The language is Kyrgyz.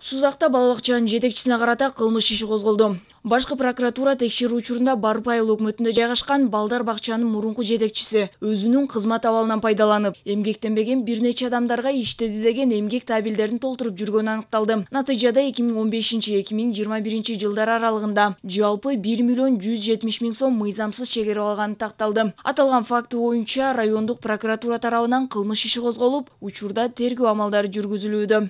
Сузакта бала бакчанын жетекчисине карата кылмыш иши козголду. Башкы прокуратура текшерүү учурунда Барып айыл өкмөтүндө жайгашкан балдар бакчанын мурунку жетекчиси өзүнүн кызмат абалынан пайдаланып, эмгектенбеген бир нече адамдарга иштеди деген эмгек табелдерин толтуруп жүргөнү аныкталды. Натыйжада 2015-2021 жылдар аралыгында жалпы 1 миллион 170 миң сом мыйзамсыз чегерип алганы такталды. Аталган факты боюнча райондук прокуратура тарабынан кылмыш иши козголуп, учурда тергөө амалдары жүргүзүлүүдө.